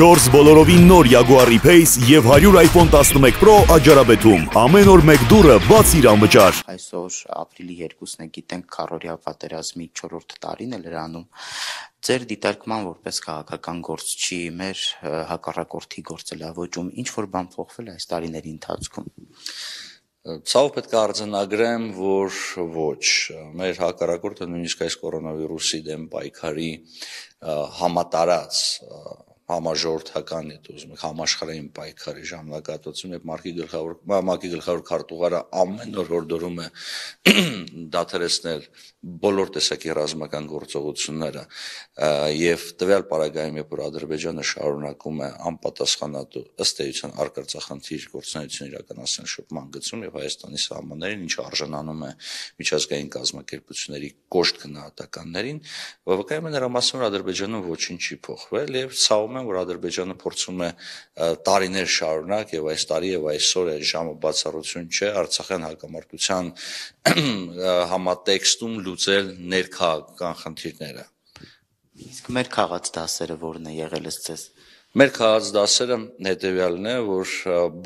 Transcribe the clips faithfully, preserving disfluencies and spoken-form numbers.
չորս բոլորովին նոր Jaguar E-Pace եւ հարյուր iPhone տասնմեկ Pro աջարաբեթում։ Ամեն օր մեկ դուրը բացիր անվճար։ Այսօր ապրիլի երկուսն է, գիտենք քառօրյա պատերազմի չորրորդ տարին է լրանում։ Ձեր դիտարկման որպես քաղաքական գործչի մեր հակառակորդի գործելավոճում ինչ որ բան փոխվել է այս տարիների ընթացքում։ Ցավ պետք է արձանագրեմ, որ ոչ, մեր հակառակորդը նույնիսկ այս կորոնավիրուսի դեմ պայքարի համատարած համաժողովրդական համաշխարհային պայքարի ժամանակահատվածում եւ Մարկի գլխավոր Մակի գլխավոր քարտուղարը ամեն օր հորդորում է դադարեցնել բոլոր տեսակի ռազմական գործողությունները եւ տվյալ պարագայում երբ որ Ադրբեջանը շարունակում է անպատասխանատու ըստ էության արկածախնդիր գործունեություն իրականացնել շփման գծում եւ Հայաստանի սահմաններին, ինչը արժանանում է միջազգային կազմակերպությունների կոշտ գնահատականներին, բավականին է նրա մասում Ադրբեջանում ոչինչ չի փոխվել եւ ցավում եմ, որ Ադրբեջանը փորձում է տարիներ շարունակ եւ այս տարի եւ այսօր այս ժամը բացառություն չէ Արցախյան հակամարտության համատեքստում լուծել ներքաղաքական խնդիրները։ Իսկ մեր քաղաց դասերը որն է եղել է ցես։ Մեր քաղաց դասերը հետեւյալն է, որ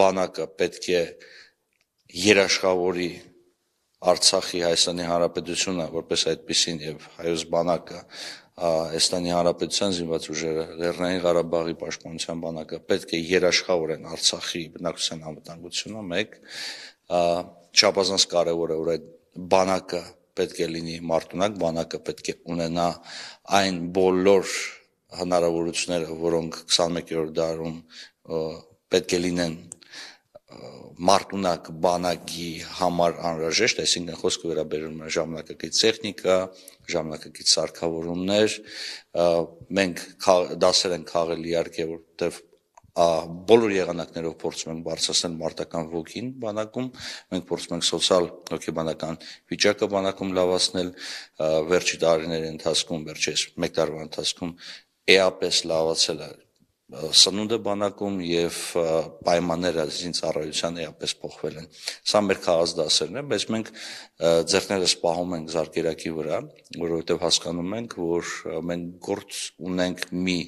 բանակը պետք է երաշխավորի Արցախի Հայաստանի Հանրապետությունը որպես այդպեսին եւ հայոց բանակը Հայաստանի Հանրապետության զինված ուժերը Լեռնային Ղարաբաղի պաշտպանության բանակը պետք է երաշխավորեն Արցախի բնակչության անվտանգությունը մեկ չափազանց կարեւոր է որ այդ բանակը պետք է լինի մարտունակ, բանակը պետք է ունենա այն բոլոր հնարավորությունները, որոնք քսանմեկերորդ դարում պետք է լինեն մարտունակ բանակի համար անհրաժեշտ, այսինքն խոսքը վերաբերում է ժամանակակից տեխնիկա, ժամանակակից սարքավորումներ, մենք դասեր ենք քաղել իհարկե, որտեղ բոլոր եղանակներով փորձում ենք բարձրացնել մարտական ոգին բանակում, մենք փորձում ենք սոցիալ հոգեբանական վիճակը բանակում լավացնել, վերջի տարիների ընթացքում, վերջերս մեկ տարվա ընթացքում էապես լավացել է սնունդը բանակում եւ պայմանները զինծառայության էապես փոխվել են։ Սա մեր քաղաց դասերն է, բայց մենք ձեռներս պահում ենք զարկերակի վրա, որովհետեւ հասկանում ենք, որ մենք գործ ունենք մի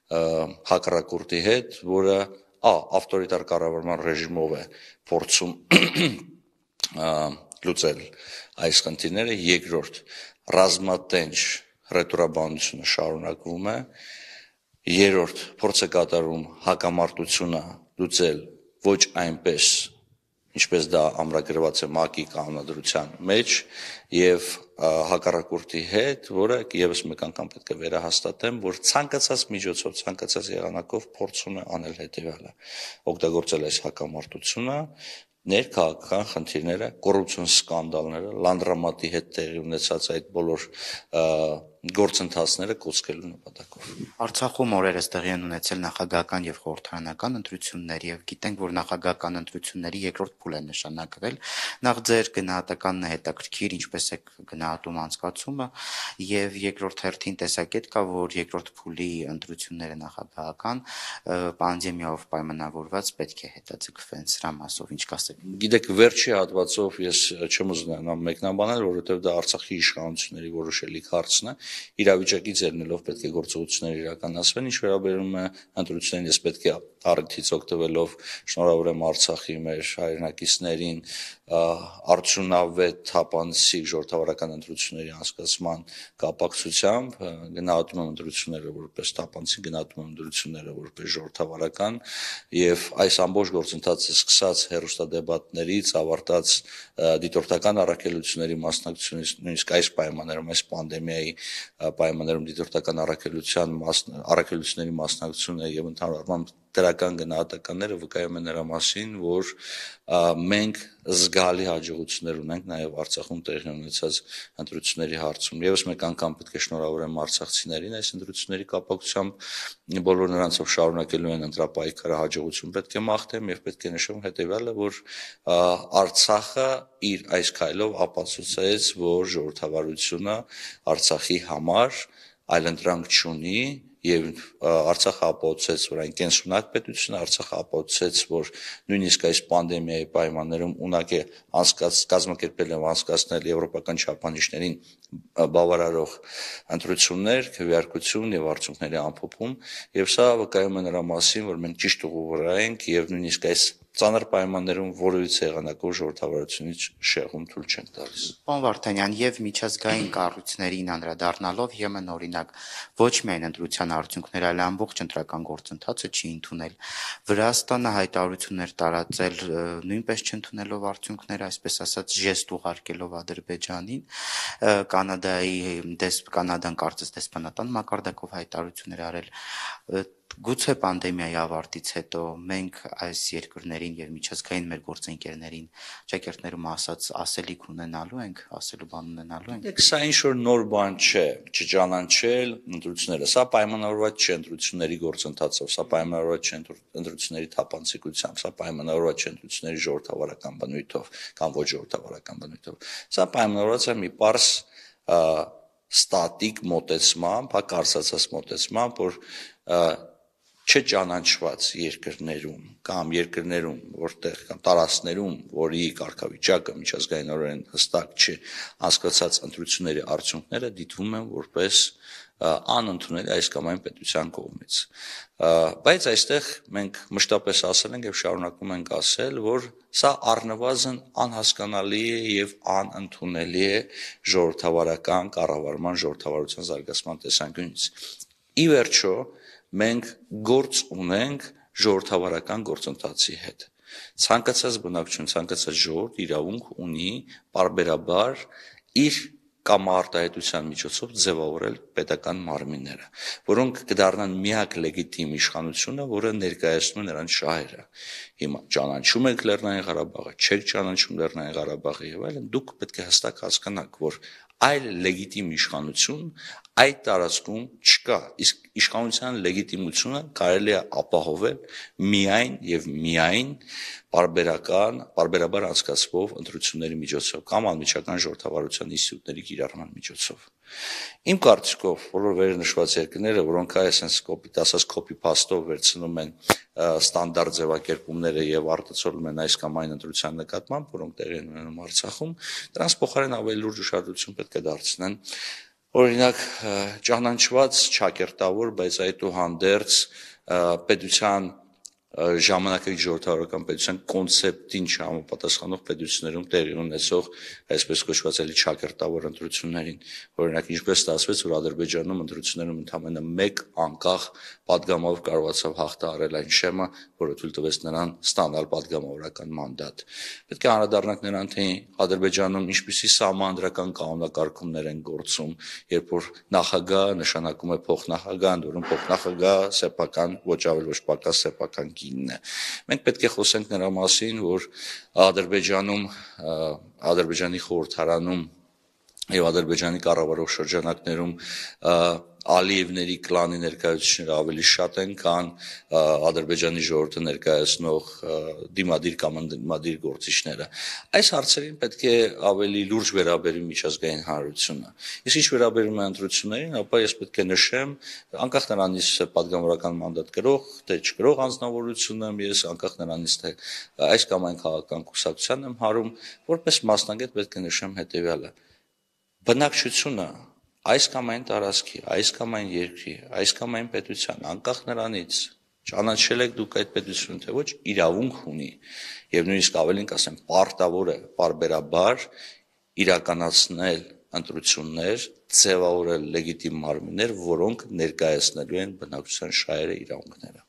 հակառակորդի հետ, որը ա ավտորիտար կառավարման ռեժիմով է փորձում լուծել այս խնդիրները, երկրորդ ռազմատենչ ռետորաբանությունը շարունակվում է, երրորդ փորձ է կատարում հակամարտությունը լուծել ոչ այնպես ինչպես դա ամրագրված է ՄԱԿ-ի կանոնադրության մեջ եւ հակառակորդի հետ, որը եւս մեկ անգամ պետք է վերահաստատեմ, որ ցանկացած միջոցով, ցանկացած եղանակով փորձում է անել հետեւյալը. օգտագործել այս հակամարտությունը ներքաղաքական խնդիրները, կոռուպցիոն սկանդալները, լանդրամատի հետ տեղի ունեցած այդ բոլոր գործընթացները կոծկելու նպատակով։ Արցախում օրերս տեղի են ունեցել նախագահական եւ խորհրդարանական ընտրություններ եւ գիտենք, որ նախագահական ընտրությունների երկրորդ փուլ է նշանակվել։ Նախ ձեր գնահատականն է հետաքրքիր, ինչպես է գնահատում անցկացումը եւ երկրորդ հերթին տեսակետ կա, որ երկրորդ փուլի ընտրությունները նախագահական պանդեմիայով պայմանավորված պետք է հետաձգվեն սրա մասով ինչ կասեք։ Գիտեք, վերջի հատվածով ես չեմ ուզենա մեկնաբանել, որովհետեւ դա Արցախի իշխանությունների որոշելի հարցն է, իրավիճակից ելնելով պետք է գործողություններ իրականացվեն, ինչ վերաբերում է ընտրություններին, ես պետք է առիթից օգտվելով շնորհավորեմ Արցախի մեր հայրենակիցներին արդյունավետ թափանցիկ ժողովրդավարական ընտրությունների անցկացման կապակցությամբ գնահատում եմ ընտրությունները որպես թափանցիկ, գնահատում եմ ընտրությունները որպես ժողովրդավարական եւ այս ամբողջ գործընթացը սկսած հերոստադեբատներից ավարտած դիտորդական առաքելությունների մասնակցությունից նույնիսկ այս պայմաններում այս պանդեմիայի պայմաններում դիտորդական առաքելության առաքելությունների մասնակցությունը եւ ընդհանրապես դրական գնահատականները վկայում են նրա մասին, որ մենք զգալի հաջողություններ ունենք նաեւ Արցախում տեղի ունեցած ընտրությունների հարցում։ Եվս մեկ անգամ պետք է շնորհավորեմ արցախցիներին այս ընտրությունների կապակցությամբ բոլոր նրանցով շարունակելու են ընտրապայքարը հաջողություն պետք է մաղթեմ եւ պետք է նշեմ հետեւյալը, որ Արցախը իր այս քայլով ապացուցեց, որ ժողովրդավարությունը Արցախի համար այլընտրանք չունի եւ Արցախը ապացուցեց, որ այն կենսունակ պետություն է, Արցախը ապացուցեց, որ նույնիսկ այս պանդեմիայի պայմաններում ունակ է անցկաց կազմակերպել եւ անցկացնել եվրոպական չափանիշներին բավարարող ընտրություններ, քվեարկություն եւ արդյունքների ամփոփում, եւ սա վկայում է նրա մասին, որ մենք ճիշտ ուղու վրա ենք եւ նույնիսկ այս ծանր պայմաններում որևիցե եղանակով ժողովրդավարությունից շեղում թույլ չենք տալիս։ Պարոն Վարդանյան, եւ միջազգային կառույցներին անդրադառնալով ԵՄ-ն օրինակ ոչ միայն ընտրության արդյունքները, այլ ամբողջ ընտրական գործընթացը չի ընդունել։ Վրաստանը հայտարարություններ տարածել նույնպես չընդունելով արդյունքները, այսպես ասած ժեստ ուղարկելով Ադրբեջանին, Կանադայի դեսպ Կանադան կարծես դեսպանատան մակարդակով հայտարարություններ արել։ Գուցե պանդեմիայի ավարտից հետո մենք այս երկրներին եւ միջազգային մեր գործընկերներին ճակերտներում ասած ասելիք ունենալու ենք, ասելու բան ունենալու ենք։ Դեք սա ինչ որ նոր բան չէ, չճանաչել ընտրությունները։ Սա պայմանավորված չէ ընտրությունների գործընթացով, սա պայմանավորված չէ ընտրությունների թափանցիկությամբ, սա պայմանավորված չէ ընտրությունների ժողովրդավարական բնույթով կամ ոչ ժողովրդավարական բնույթով։ Սա պայմանավորված է մի պարզ ստատիկ մոտեցմամբ, հա կարծացած մոտեցմամբ, որ չճանաչված երկրներում կամ երկրներում, որտեղ կամ տարածքներում, որի կարգավիճակը միջազգայինորեն հստակ չի, անցկացած ընտրությունների արդյունքները դիտվում են որպես անընդունելի այս կամ այն պետության կողմից։ Բայց այստեղ մենք մշտապես ասել ենք եւ շարունակում ենք ասել, որ սա առնվազն անհասկանալի է եւ անընդունելի է ժողովրդավարական կառավարման, ժողովրդավարության զարգացման տեսանկյունից։ Ի վերջո մենք գործ ունենք ժողովրդավարական գործընթացի հետ։ Ցանկացած բնակչություն, ցանկացած ժողովուրդ իրավունք ունի պարբերաբար իր կամ արտահայտության միջոցով ձևավորել պետական մարմինները, որոնք կդառնան միակ լեգիտիմ իշխանությունը, որը ներկայացնում է նրանց շահերը։ Հիմա ճանաչում եք Լեռնային Ղարաբաղը, չեք ճանաչում Լեռնային Ղարաբաղը եւ այլն, դուք պետք է հստակ հասկանաք, որ այլ լեգիտիմ իշխանություն այդ տարածքում չկա, իսկ իշխանության լեգիտիմությունը կարելի է ապահովել միայն եւ միայն պարբերական, պարբերաբար անցկացվող ընտրությունների միջոցով կամ անմիջական ժողովրդավարության ինստիտուտների կիրառման միջոցով։ Իմ կարծիքով, բոլոր վերնշված երկրները, որոնք այսպես կոպիտ ասած copy-paste-ով վերցնում են ստանդարտ ձևակերպումները եւ արտացոլում են այս կամ այն ընտրության նկատմամբ, որոնք տեղի են ունենում Արցախում, դրանց փոխարեն ավելի լուրջ ուշադրություն պետք է դարձնեն օրինակ ճանաչված չակերտավոր, բայց այդուհանդերձ պետության ժամանակակից ժողովրդավարական պետության կոնցեպտին չհամապատասխանող պետություններում տեղի ունեցող այսպես կոչված էլի չակերտավոր ընտրություններին, օրինակ ինչպես ստացվեց, որ Ադրբեջանում ընտրություններում ընդամենը մեկ անկախ պատգամավոր կարողացավ հաղթահարել այն շեմը, որը թույլ տվեց նրան ստանալ պատգամավորական մանդատ։ Պետք է անդրադառնանք նրան, թե Ադրբեջանում ինչպիսի սահմանադրական կանոնակարգումներ են գործում, երբ որ նախագահ նշանակում է փոխնախագահ, ընդ որում փոխնախագահ սեփական ոչ ավել ոչ պակաս սեփական կինն է։ Մենք պետք է խոսենք նրա մասին, որ Ադրբեջանում, Ադրբեջանի խորհրդարանում եւ Ադրբեջանի կառավարող շրջանակներում Ալիևների կլանի ներկայացուցիչները ավելի շատ են, քան Ադրբեջանի ժողովրդը ներկայացնող դիմադիր կամ ընդդիմադիր գործիչները։ Այս հարցերին պետք է ավելի լուրջ վերաբերի միջազգային հանրությունը։ Իսկ ինչ վերաբերում է ընտրություններին, ապա ես պետք է նշեմ, անկախ նրանից թե պատգամավորական մանդատ կրող, թե չկրող անձնավորություն եմ, ես անկախ նրանից թե այս կամ այն քաղաքական կուսակցության եմ հարում, որպես մասնագետ պետք է նշեմ հետեւյալը. բնակչությունը այս կամ այն տարածքի, այս կամ այն երկրի, այս կամ այն պետության, անկախ նրանից ճանաչել եք դուք այդ պետությունը, թե ոչ, իրավունք ունի եւ նույնիսկ ավելին կասեմ, պարտավոր է պարբերաբար իրականացնել ընտրություններ, ձևավորել լեգիտիմ մարմիններ, որոնք ներկայացնելու են բնակչության շահերը, իրավունքները։